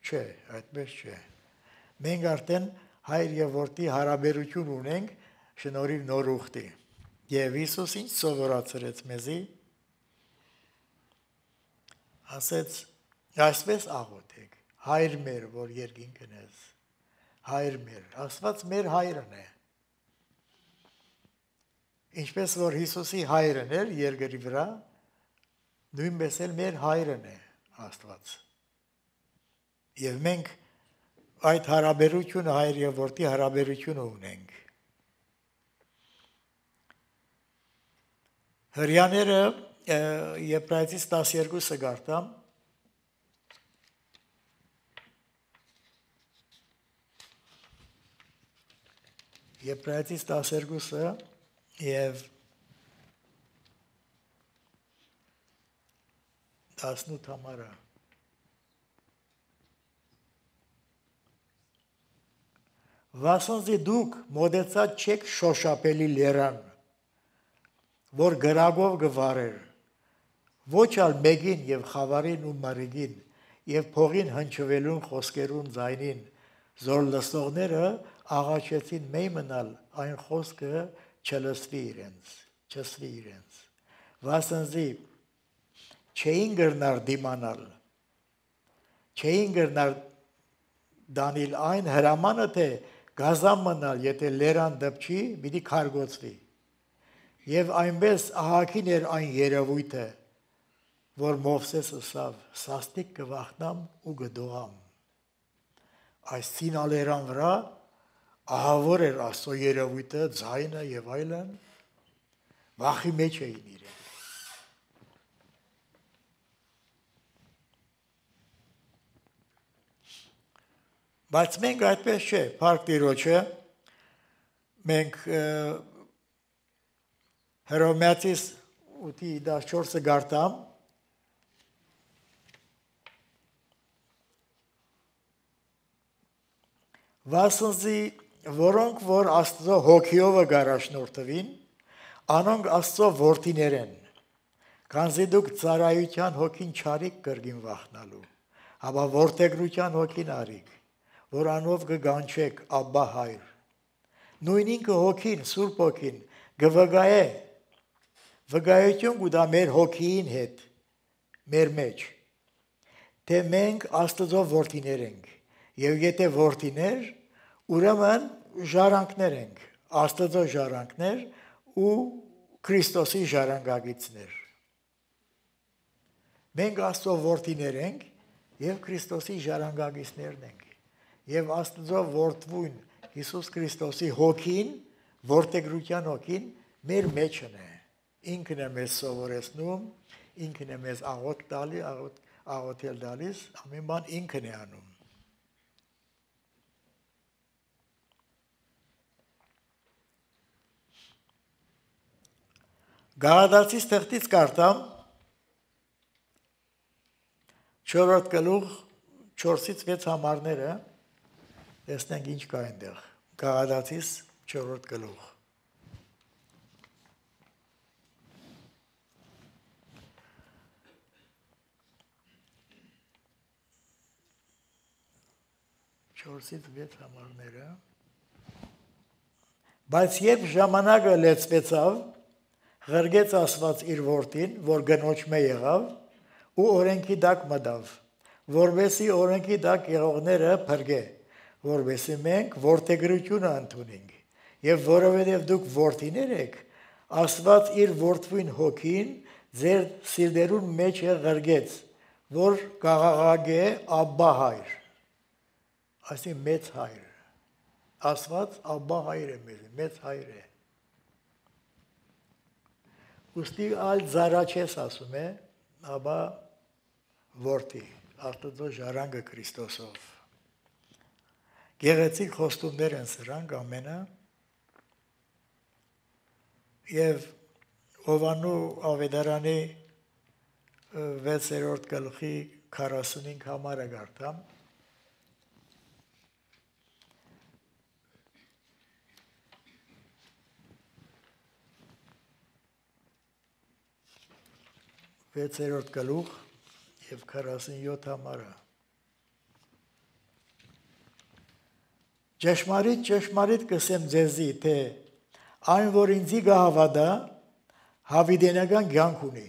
Չէ, այդպես չէ։ Մենք արդեն հայր եւ որդի հարաբերություն ունենք շնորհիվ նոր ուխտի։ Եվ Հիսուս ինչ սովորացրեց մեզի, ասեց, այսպես աղոթեք, հայր մեր, որ երկինքն ես, հայր մեր, Աստված մեր հայրն է։ Ինչպես որ Հիսուսի հայրն էր երկրի վրա, նույնպես էլ մեր հայրն է Աստված։ Եվ մենք այդ հարաբերությունը հայր եւ որդի հարաբերությունը ունենք։ Հրյաները Եբրայեցիս տասներկուսը գարտամ, Եբրայեցիս տասներկուսը եւ տասնութ համարը։ Վասնզի դուք մոդեցած չեք շոշափելի լերան, որ գրագով գվարեր, ոչ ալ մեկին եւ խավարին ու մարիգին եւ փողին հնչվելուն խոսքերուն ձայնին, զոր լսողները աղաչեցին մեյ մնալ այն խոսքը չլսվի իրենց, չսվի իրենց, վասնզի չէին գրնար դիմանալ, չէին գրնար դանիլ այն հրամանը, թե գազամ մնալ, եթե լերան դպչի, պիտի քարգոցվի։ Եվ այնպես ահագին էր այն երևույթը, որ Մովսես ասավ, սաստիկ կվախնամ ու գդողամ։ Այս սինալերան վրա ահավոր էր Աստծո երևույթը, ձայնը եւ այլն, վախի մեջ էին իրենք։ Բայց մենք այդպես չէ, Փառք Տիրոջը, մենք Հռոմեացիս ութի տասնչորսը գարտամ, վասնզի որոնք որ Աստծո հոգիովը գարաշնորթվին, անոնք Աստծո որդիներ են, քանզի դուք ծառայության հոգին չարիք կրգին վախնալու, հապա որդեգրության հոգին արիք, որ անով կգանչեք Աբբա հայր։ Նույն ինքը հոգին, Սուրբ հոգին գվգայե, վգայություն կուտա մեր հոգիին հետ, մեր մեջ, թե մենք Աստծո որդիներ ենք, եւ եթե որդիներ, ուրեմն ժառանգներ ենք, Աստծո ժառանգներ ու Քրիստոսի ժառանգագիցներ։ Մենք Աստծո որդիներ ենք եւ Քրիստոսի ժառանգագիցներն ենք։ Եվ Աստծո որդվուն Հիսուս Քրիստոսի հոգին, որդեգրության հոգին մեր մեջն է։ Ինքն է մեզ սովորեցնում, ինքն է մեզ աղոթ տալի, աղոթել տալիս, ամեն բան ինքն է անում։ Գաղադացիս թղթից կարդամ չորրորդ գլուխ չորսից վեց համարները, տեսնենք ինչ կա այնտեղ։ Գաղադացիս չորրորդ գլուխ։ չորսից վեց համարները։ Բայց երբ ժամանակը լեցվեցավ, ղրգեց Աստված իր որդին, որ գնոջմե եղավ, ու օրենքի տակ մտավ, որովհետեւ օրենքի տակ եղողները փրկե, որովհետեւ մենք որդեգրությունը ընդունենք, եւ որովհետեւ դուք որդիներ եք, Աստված իր որդվին հոգին ձեր սիրտերուն մեջ է ղրգեց, որ կաղաղագե Աբբա հայր, այսինքն մեծ հայր, Աստված Աբբա հայր է մեզ, մեծ հայր է։ Ուստի ալ զարաչես ասում է, ապա որդի, Աստծո ժառանգը Քրիստոսով։ Գեղեցիկ խոստումներ են սրանք ամենը, եւ Հովանու Ավետարանի վեցերորդ գլխի քառասունհինգ համարը գարտամ։ վեցերորդ գլուխ եւ քառասունյոթ համարը։ Ճշմարիտ, ճշմարիտ կսեմ ձեզի, թե այն, որ ինձի գահավադա, հավիդենական կյանք ունի։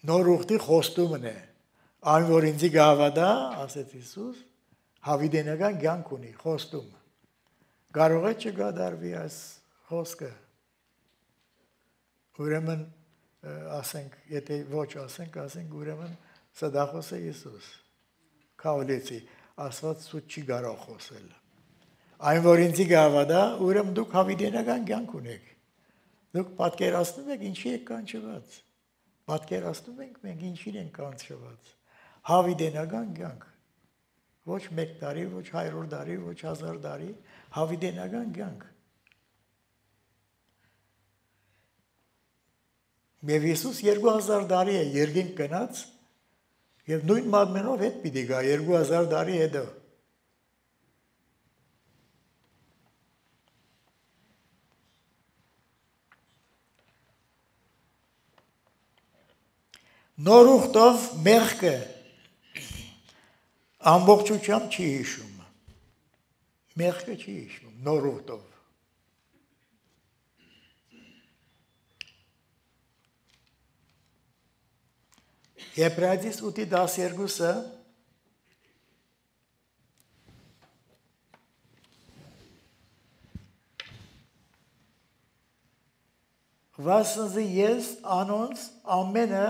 Նոր ուխտի խոստումն է, այն, որ ինձի գահավադա, ասեց Հիսուս, հավիդենական կյանք ունի, խոստում։ Կարող է չգադարվի այս խոսքը։ Ուրեմն ասենք, եթե ոչ ասենք, ասենք ուրեմն սա դա խոսե Հիսուս։ Քավլեցի, Աստված սուտ չի կարող խոսել։ Այն, որ ինձի գահավադա, ուրեմն դուք հավիդենական կյանք ունեք։ Դուք պատկերացնում եք ինչի եք կանչված։ Պատկերացնում ենք մենք ինչին ենք կանչված։ Հավիդենական կյանք։ Ոչ մեկ տարի, ոչ հարյուր տարի, ոչ հազար տարի, հավիդենական կյանք։ Եվ Հիսուս երկու հազար տարի է երկինք գնաց եւ նույն մատմենով հետ պիտի գա երկու հազար տարի հետո։ Նոր ուխտով մեղքը ամբողջությամբ չի հիշում։ Մեղքը չի հիշում նոր ուխտով։ Եբրայեցիս ութի տասներկուսը վասնզի ես անոնց ամենը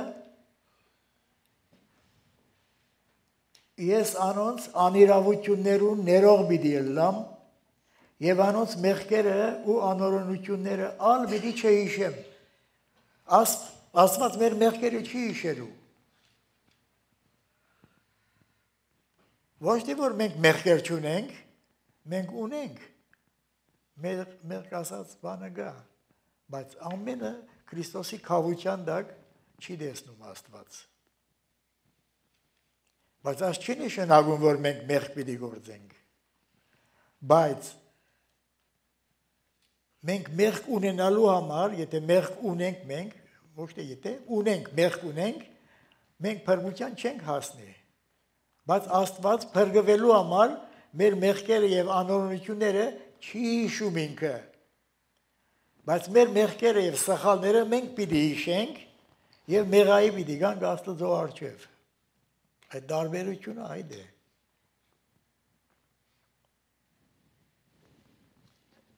ես անոնց անիրավություններուն ներող պիտի ելլամ եւ անոնց մեղքերը ու անօրենությունները ալ պիտի չհիշեմ։ Աստված մեր մեղքերը չի հիշելու։ Ոչ թե որ մենք մեղքեր չունենք, մենք ունենք, մեղք ասած բանը գա, բայց ամենը Քրիստոսի քավության տակ չի տեսնում Աստված։ Բայց այս չի նշանակում, որ մենք մեղք պիտի գործենք, բայց մենք մեղք ունենալու համար, եթե մեղք ունենք մենք, ոչ թե եթե ունենք, մեղք ունենք, մենք փրկության չենք հասնի։ Բայց Աստված փրկվելու համար մեր մեղքերը եւ անօրենությունները չի հիշում ինքը։ Բայց մեր մեղքերը եւ սխալները մենք պիտի հիշենք եւ մեղայի պիտի գանք Աստծո առջև։ Այդ տարբերությունը այդ է։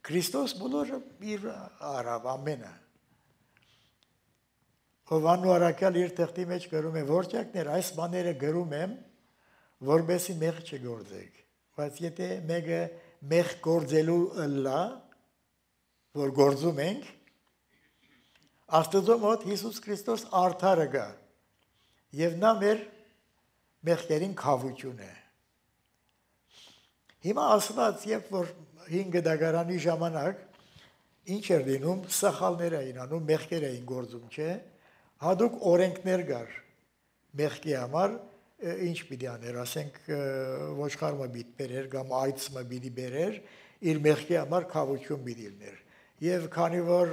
Քրիստոս բոլորը իր արավ ամենը։ Հովանու առաքյալ իր թղթի մեջ գրում է, որճակներ այս բաները գրում եմ, որբեսի մեղք չգործեք, բայց եթե մեկը մեղք գործելու լա, որ գործում ենք, Աստծո մոտ Հիսուս Քրիստոս արդարը գա, եւ նա մեր մեղքերին քավություն է։ Հիմա ասված, երբ որ հինգ դագարանի ժամանակ ինչ էր լինում, սխալներ էին անում, մեղքեր էին գործում, չէ՞, հատուկ օրենքներ կար մեղքի համար, ինչ պիտի աներ, ասենք ոչխարը պիտի բերեր կամ այծը պիտի բերեր, իր մեղքի համար քավություն պիտի լիներ։ Եվ քանի որ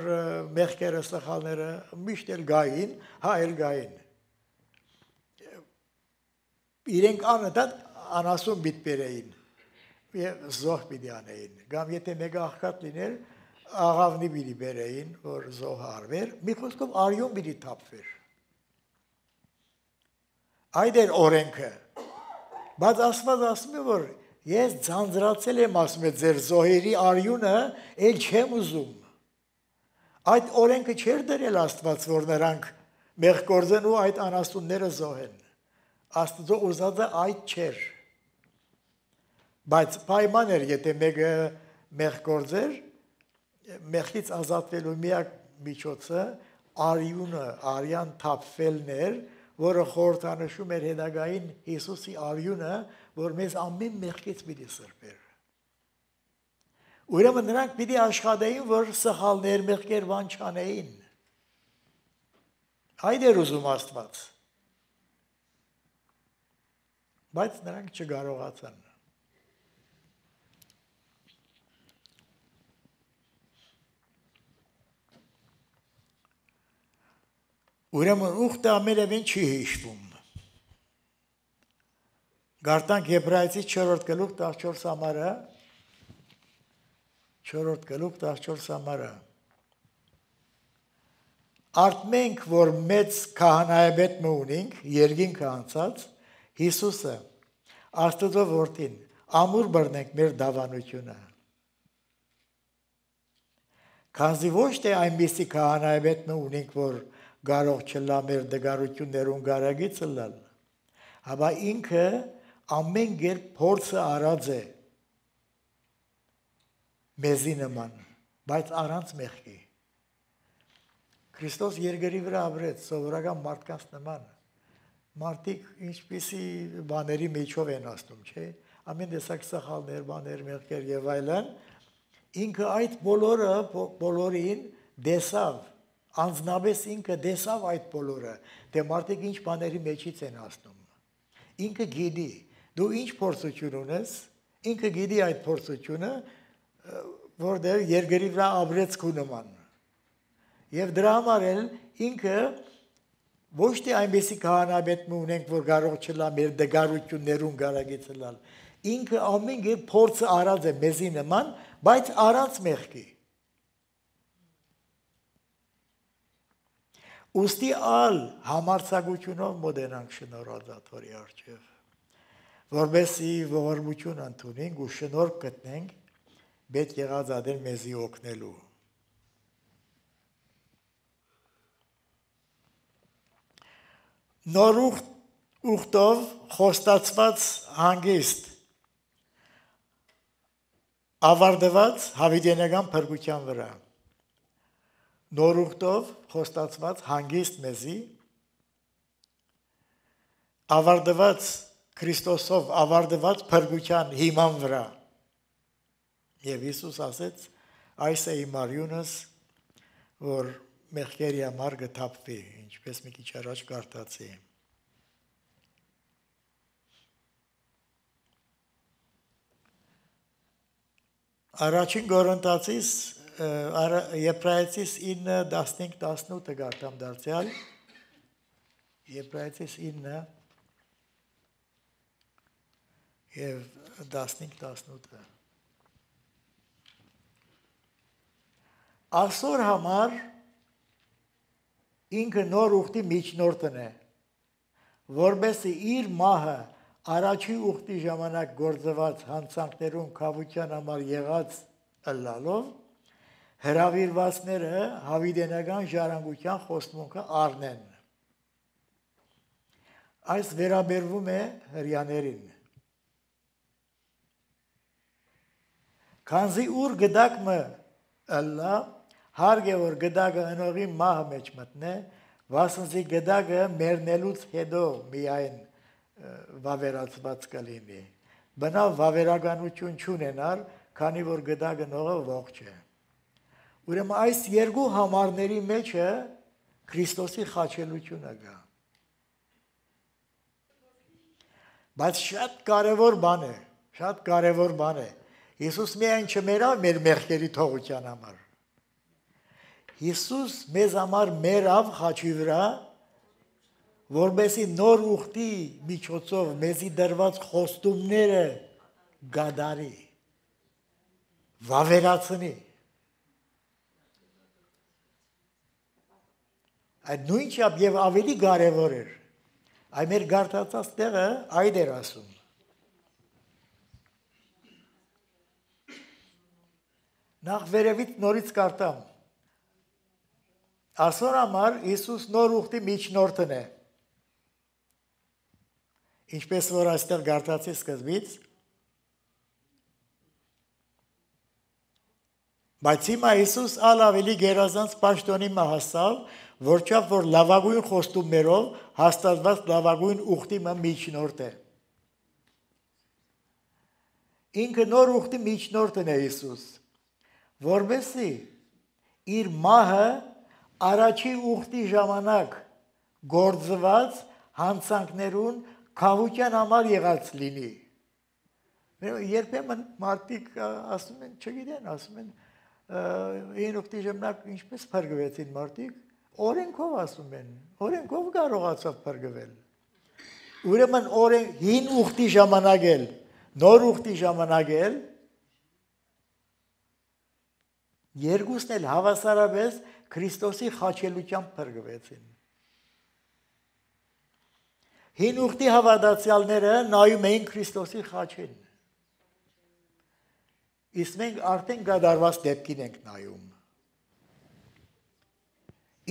մեղքերը սխալները միշտ էլ գային, հա էլ գային։ Իրենք անընդհատ անասուն պիտի բերեին եւ զոհ պիտի անեին։ Կամ եթե մեկը աղքատ լիներ, աղավնի պիտի բերեին, որ զոհ արվեր, մի խոսքով արյուն պիտի թափվեր։ Այդ էր օրենքը, բայց Աստված ասում է, որ ես ձանձրացել եմ, ասում է, ձեր զոհերի արյունը էլ չեմ ուզում։ Այդ օրենքը չէր դրել Աստված, որ նրանք մեղք գործեն ու այդ անաստունները զոհեն։ Աստծո ուզածը այդ չէր։ Բայց պայման էր, եթե մեկը մեղք գործեր, մեղքից ազատվելու միակ միջոցը արյունը, արյան թափվելն էր, որը խորհրդանշում էր հետագային Հիսուսի արյունը, որ մեզ ամեն մեղքից պիտի սրբեր։ Ուրեմն նրանք պիտի աշխատեին, որ սխալներ, մեղքեր բան չանեին։ Այդ էր ուզում Աստված։ Բայց նրանք չկարողացան։ Ուրեմն ուխտը ամենևին չի հիշվում։ Գարտանք Եբրայեցիս չորրորդ գլուխ տասնչորս համարը, չորրորդ գլուխ տասնչորս համարը։ Արդ մենք, որ մեծ քահանայապետ մը ունենք, երկինքը անցած, Հիսուսը, Աստծո որդին, ամուր բռնենք մեր դավանությունը։ Քանզի ոչ թե այնպիսի քահանայապետ մը ունենք, որ կարող չլա մեր դգարություններուն գարագիցը լալ, հապա ինքը ամեն կերպ փորձը արած է մեզի նման, բայց առանց մեղքի։ Քրիստոս երկրի վրա ապրեց սովորական մարդկանց նման։ Մարդիկ ինչպիսի բաների միջով են ասում, չէ՞։ Ամեն տեսակ սխալներ, բաներ, մեղքեր եւ այլն, ինքը այդ բոլորը բոլորին դեսավ, անձնապես ինքը դեսավ այդ բոլորը, թե մարդիկ ինչ բաների մեջից են ասում։ Ինքը գիտի, դու ինչ փորձություն ունես, ինքը գիտի այդ փորձությունը, որտեղ երկրի վրա ապրեց քու նման։ Եվ դրա համար էլ ինքը ոչ թե այնպեսի քահանայապետ մը ունենք, որ կարող չլա մեր դգարություններուն գարագիցը լալ։ Ինքը ամեն կերպ փորձը արած է մեզի նման, բայց առանց մեղքի։ Ուստի ալ համարձակությունով մոտենանք շնորհազատորի առջև, որովհետեւ ողորմություն ընդունենք ու շնորհ գտնենք պետք եղած ադեր մեզի օգնելու։ Նոր ուխտով խոստացված հանգիստ ավարտված հավիտենական փրկության վրա։ Նոր ուխտով խոստացված հանգիստ մեզի ավարտված Քրիստոսով ավարտված փրկության հիման վրա։ Եվ Հիսուս ասեց. այս է իմ արյունս, որ մեղքերի համար կթափվի, ինչպես մի քիչ առաջ կարդացի։ Առաջին Կորինթացիս Եբրայեցիս ինը տասնհինգ տասնութը գարտամ դարձյալ, Եբրայեցիս ինը և տասնհինգ տասնութը։ Այսօր համար ինքը նոր ուխտի միջնորդն է, որպեսզի իր մահը առաջի ուխտի ժամանակ գործված հանցանքներուն քավության համար եղած ըլլալով հրավիրվածները հավիտենական ժառանգության խոստմունքը առնեն։ Այս վերաբերվում է հրյաներին։ Քանզի ուր գդակը ըլլա, հարկ է որ գդակը ընողի մահը մեջ մտնե, վասնզի գդակը մեռնելուց հետո միայն վավերացված կլինի։ Բնավ վավերականություն չունենար, քանի որ գդակը նողը ողջ է։ Ուրեմն այս երկու համարների մեջը Քրիստոսի խաչելությունը կա։ Բայց շատ կարևոր բան է, շատ կարևոր բան է։ Հիսուս միայն չմերավ մեր մեղքերի թողության համար։ Հիսուս մեզ համար մերավ խաչի վրա, որպեսզի նոր ուխտի միջոցով մեզի դրված խոստումները գադարի, վավերացնի։ Այդ նույնչափ եւ ավելի կարևոր էր։ Այ մեր գարտացած տեղը այդ էր ասում։ Նախ վերևից նորից կարտամ։ Այսօր համար Հիսուս նոր ուխտի միջնորդն է։ Ինչպես որ այստեղ գարտացի սկզբից, բայց հիմա Հիսուս ալ ավելի գերազանց պաշտոնի մը հասավ, որչափ որ լավագույն խոստումներով հաստատված լավագույն ուխտի միջնորդ է։ Ինքը նոր ուխտի միջնորդն է Հիսուս, որովհետեւ իր մահը առաջի ուխտի ժամանակ գործված հանցանքներուն քավության համար եղած լինի։ Երբեմն մարդիկ ասում են, չգիտեն, ասում են, այն ուխտի ժամանակ ինչպես փրկվեցին մարդիկ, օրենքով ասում են, օրենքով կարողացավ փրկվել։ Ուրեմն օրեն հին ուխտի ժամանակ էլ, նոր ուխտի ժամանակ էլ երկուսն էլ հավասարապես Քրիստոսի խաչելությամբ փրկվեցին։ Հին ուխտի հավատացյալները նայում էին Քրիստոսի խաչին։ Իսկ մենք արդեն գդարված դեպքին ենք նայում։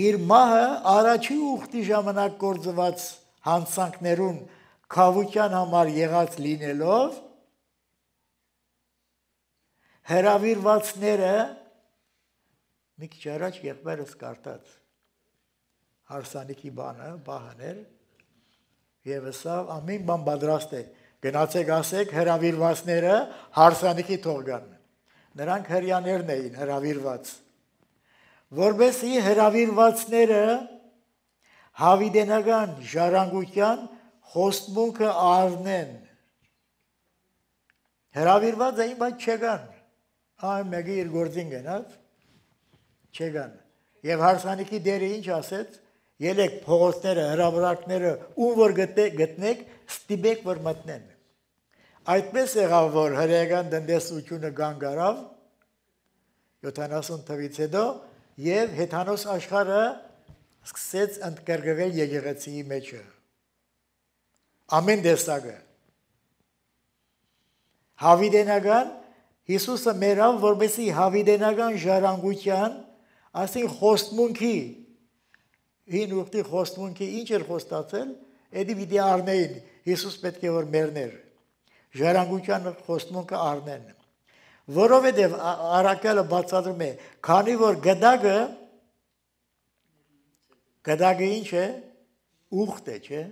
Իր մահը առաջի ուխտի ժամանակ գործված հանցանքներուն քավության համար եղած լինելով հրավիրվածները մի քիչ առաջ եղբայրս կարդաց հարսանիքի բանը, բահաներ եւ սա ամեն բան պատրաստ է։ Գնացեք ասեք հրավիրվածները հարսանիքի թող գան։ Նրանք հрьяաներն էին հրավիրված։ Որբեսի հրավիրվածները հավիդենական ժառանգության խոստմունքը առնեն։ Հրավիրված էին, բայց չգան։ Այն մեկը իր գործին գնաց, չգան։ Եվ հարսանիքի դերը ինչ ասեց, ելեք փողոցները, հրավիրակները, ում որ գտնեք, ստիպեք որ մտնեն։ Այդպես եղավ, որ հրեական տնտեսությունը կանգ առավ յոթանասուն թվից հետո եւ հեթանոս աշխարհը սկսեց ընդգրկվել եկեղեցիի մեջը։ Ամեն տեսակը։ Հավիդենական Հիսուսը մերավ, որպեսզի հավիդենական ժառանգության, ասին խոստմունքի, հին ուխտի խոստմունքի ինչ էր խոստացել, էդի պիտի առնեին, Հիսուս պետք է որ մերներ, ժառանգության խոստմունքը առնեն։ Որովհետև առաքյալը բացատրում է, քանի որ գդակը, գդակը ինչ է, ուխտ է, չէ։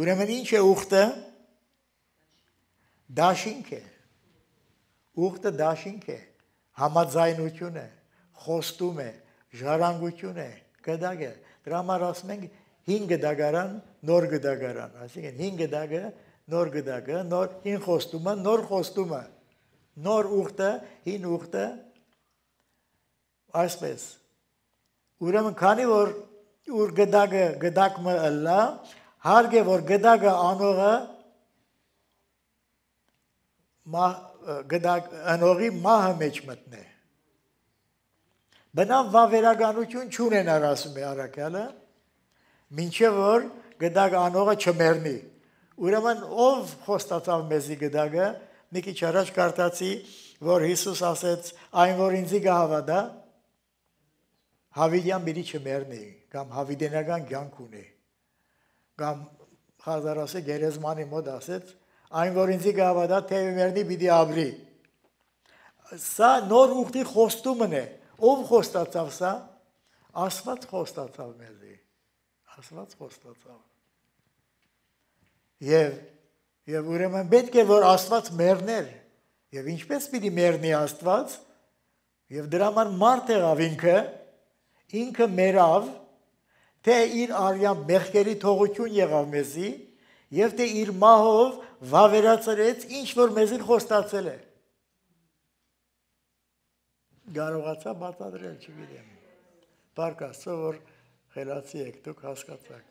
Ուրեմն ինչ է ուխտը, դաշինք է, ուխտը դաշինք է, համաձայնություն է, խոստում է, ժառանգություն է, գդակ է, դրա համար ասում ենք հին գդակարան, նոր գդակարան, այսինքն հին գդակը, նոր գդակը, նոր հին խոստումը, նոր խոստումը, նոր ուխտը, հին ուխտը, այսպես։ Ուրեմն քանի որ ուր գդակը գդակը ըլլա, հարկ է որ գդակը անողը գդակ անողի մահը մեջ մտնե։ Բնավ վավերականություն չունենար ասում է առաքյալը, մինչև որ գդակ անողը չմեռնի։ Ուրեմն ով խոստացավ մեզի գդակը, մի քիչ առաջ կարդացի, որ Հիսուս ասեց, այն որ ինձի կհավատա, հավիդյան պիտի չմեռնի, կամ հավիդենական կյանք ունի, կամ խազարասը գերեզմանի մոտ ասեց, այն որ ինձի կհավատա, թե մեռնի պիտի ապրի։ Սա նոր ուխտի խոստումն է, ով խոստացավ սա, Աստված խոստացավ մեզի, Աստված խոստացավ։ Եվ եւ ուրեմն պետք է որ Աստված մեռներ, եւ ինչպես պիտի մեռնի Աստված, եւ դրա համար մարդ եղավ ինքը, ինքը մեռավ, թե իր արյան մեղքերի թողություն եղավ մեզի, եւ թե իր մահով վավերացրեց ինչ որ մեզին խոստացել է։ Կարողացա բացատրել, չգիտեմ։ Փառք Աստծո, որ խելացի եք, դուք հասկացաք։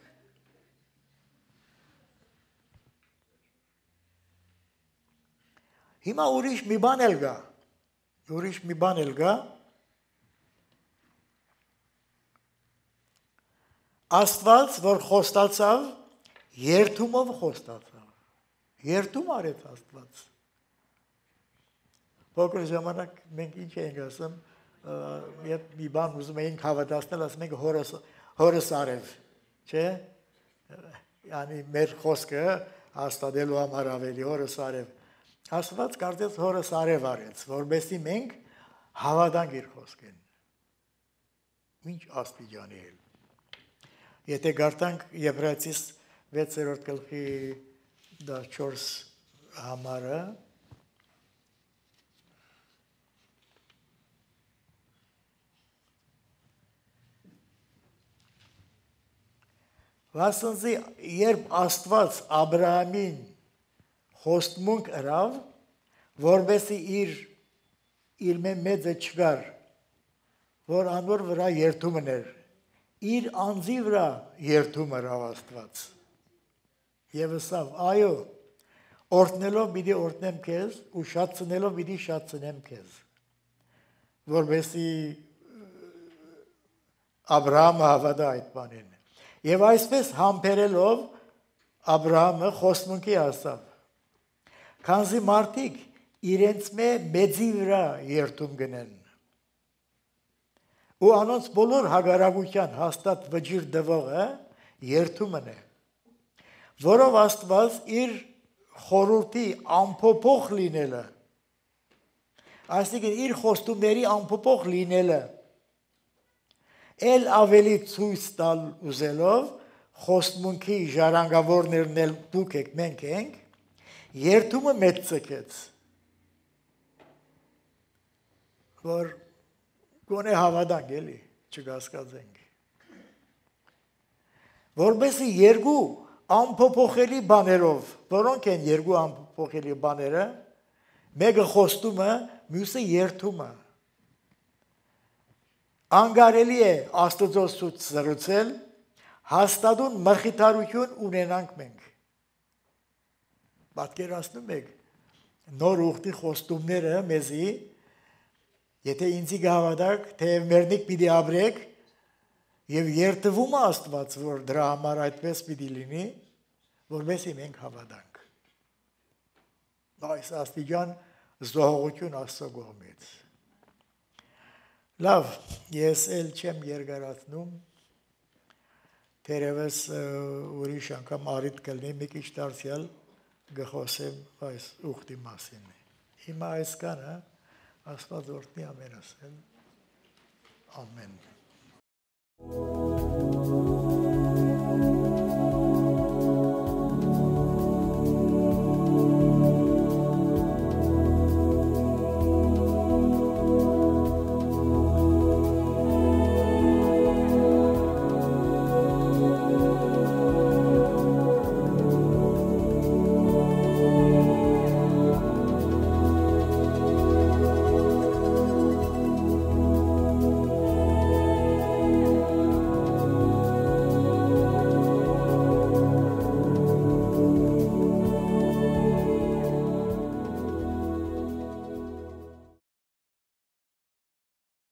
Հիմա ուրիշ մի բան էլ կա։ Ուրիշ մի բան էլ կա։ Աստված, որ խոստացավ, երթումով խոստացավ։ Երթում արեց Աստված։ Փոքր ժամանակ մենք ինչ էինք ասում, երբ մի բան ուզում էինք հավատացնել, ասում ենք հորս հորս արև, չէ՞։ Յանի մեր խոսքը հաստատելու համար ավելի հորս արև։ Աստված կարծես հորս արև արեց, որովհետեւ մենք հավատանք իր խոսքին։ ինչ աստիճանի էլ։ Եթե գարտանք Եբրայեցիս վեցերորդ գլխի չորս համարը, վասնզի երբ Աստված Աբրահամին խոստմունք ըրավ, որովհետեւ իր իր մեծը չկար, որ անոր վրա երթումն էր, իր անձի վրա երթում ըրավ Աստված։ Եվ ասավ, այո, օրհնելով պիտի օրհնեմ քեզ ու շատցնելով պիտի շատցնեմ քեզ, որովհետեւ Աբրահամը հավատա այդ բանին։ Եվ այսպես համբերելով Աբրահամը խոստմունքի ասավ, քանզի մարդիկ իրենց մեծի վրա երթում գնեն, ու անոնց բոլոր հագարակության հաստատ վճիռ դվողը երթումն է, որով Աստված իր խորհրդի ամփոփող լինելը, այսինքն իր խոստումների ամփոփող լինելը, էլ ավելի ցույց տալ ուզելով խոստմունքի ժառանգավորներն էլ դուք եք, մենք ենք, երթումը մեծ ցկեց, որ գոնե հավատանք էլի, չկասկածենք, որովհետեւ երկու ամփոփողելի բաներով, որոնք են երկու ամփոփողելի բաները, մեկը խոստումը, մյուսը երթումը, անգարելի է Աստծո սուտ զրուցել, հաստատուն մխիթարություն ունենանք մենք։ Պատկերացնում եք նոր ուխտի խոստումները մեզի, եթե ինձի գավադակ, թե մերնիկ պիտի ապրեք, եւ երթվում է Աստված, որ դրա համար այդպես պիտի լինի, որովհետեւ մենք հավատանք։ Այս աստիճան զոհողություն Աստծո կողմից։ Լավ, ես էլ չեմ երկարացնում, թերևս ուրիշ անգամ առիթ կլինի մի քիչ դարձյալ գխոսեմ այս ուխտի մասին։ Հիմա այսքանը Աստված օրհնի ամենասել։ Ամեն։